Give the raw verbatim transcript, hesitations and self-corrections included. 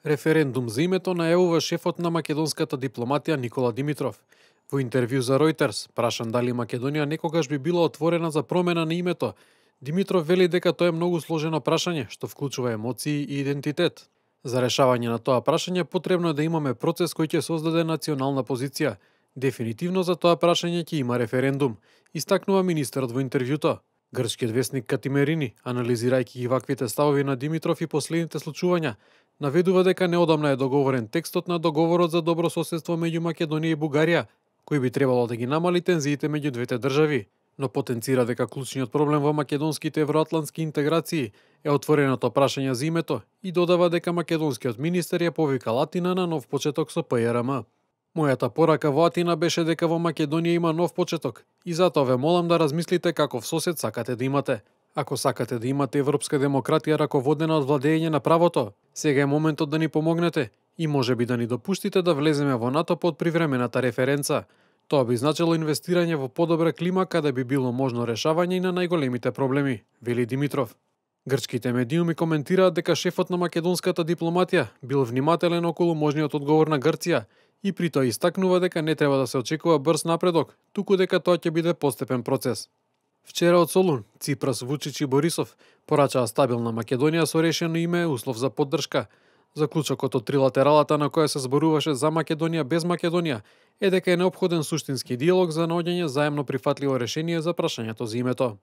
Референдум за името најавува шефот на македонската дипломатија Никола Димитров. Во интервју за Reuters, прашан дали Македонија некогаш би била отворена за промена на името, Димитров вели дека тоа е многу сложено прашање, што вклучува емоции и идентитет. За решавање на тоа прашање потребно е да имаме процес кој ќе создаде национална позиција. Дефинитивно за тоа прашање ќе има референдум, истакнува министерот во интервјуто. Грчкиот весник Катимерини, анализирајќи ги ваквите ставови на Димитров и последните случувања, наведува дека неодамна е договорен текстот на договорот за добро соседство меѓу Македонија и Бугарија, кој би требало да ги намали тензиите меѓу двете држави, но потенцира дека клучниот проблем во македонските евроатлантски интеграции е отвореното прашање за името и додава дека македонскиот министер ја повикал Атина на нов почеток со П Ј Р М. Мојата порака во Атина беше дека во Македонија има нов почеток и затоа ве молам да размислите каков сосед сакате да имате. Ако сакате да имате европска демократија раководена од владење на правото, сега е моментот да ни помогнете и можеби да ни допуштите да влеземе во НАТО под привремената референца. Тоа би значило инвестирање во подобра клима каде би било можно решавање и на најголемите проблеми, вели Димитров. Грчките медиуми коментираат дека шефот на македонската дипломатија бил внимателен околу можниот одговор на Грција и при тоа истакнува дека не треба да се очекува брз напредок, туку дека тоа ќе биде постепен процес. Вчера од Солун, Ципрас, Вучич и Борисов порачаа стабилна Македонија со решено име услов за поддршка. Заклучокот од трилатералата на која се зборуваше за Македонија без Македонија е дека е неопходен суштински диалог за наоѓање заемно прифатливо решение за прашањето за името.